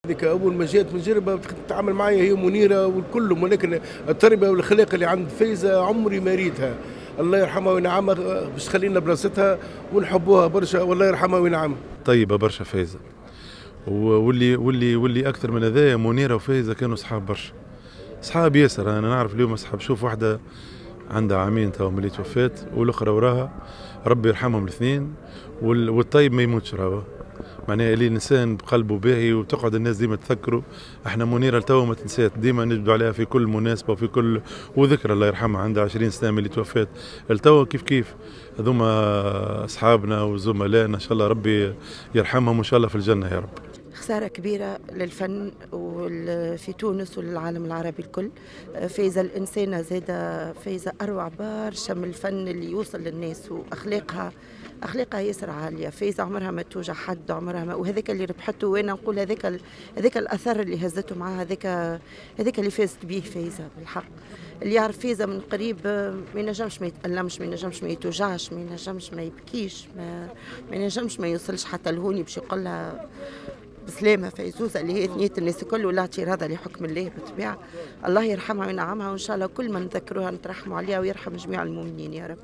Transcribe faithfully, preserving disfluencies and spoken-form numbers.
هذيك اول ما جات من جربه تتعامل معايا هي منيرة والكل، ولكن التربية والخلاق اللي عند فايزه عمري ما ريتها. الله يرحمها وينعمها، باش تخلينا بلاصتها ونحبوها برشا، والله يرحمها وينعمها. طيبة برشا فايزه، واللي واللي واللي اكثر من هذايا منيرة وفايزه كانوا صحاب برشا، صحاب ياسر. انا نعرف اليوم اصحاب، شوف واحدة عندها عامين تو ملي توفات والاخرى وراها، ربي يرحمهم الاثنين. والطيب ما يموتش راهو، معناها اللي الانسان بقلبه باهي وتقعد الناس ديما تذكره. احنا منيرة لتوا ما تنسات، ديما نجبدوا عليها في كل مناسبة وفي كل وذكرى، الله يرحمها عندها عشرين سنة من اللي توفات لتوا كيف كيف. هذوما اصحابنا وزملائنا، ان شاء الله ربي يرحمهم وان شاء الله في الجنة يا رب. خسارة كبيرة للفن وفي تونس وللعالم العربي الكل. فايزة الإنسانة زادة، فايزة أروع برشا من الفن اللي يوصل للناس، وأخلاقها أخلاقها ياسر عالية. فايزة عمرها ما توجع حد، عمرها ما، وهذاك اللي ربحته، وأنا نقول هذاك هذاك الأثر اللي هزته معها، هذاك هذاك اللي فازت به فايزة بالحق. اللي يعرف فايزة من قريب ما ينجمش ما يتألمش، ما ينجمش ما يتوجعش، ما ينجمش ما يبكيش، ما, ما ينجمش ما يوصلش حتى لهوني باش يقول لها بسلامة فيزوزة اللي هي ثنية الناس الكل، ولا اعتراض لحكم الله بالطبيعة. الله يرحمها وينعمها، وإن شاء الله كل ما نذكروها نترحموا عليها، ويرحم جميع المؤمنين يا رب.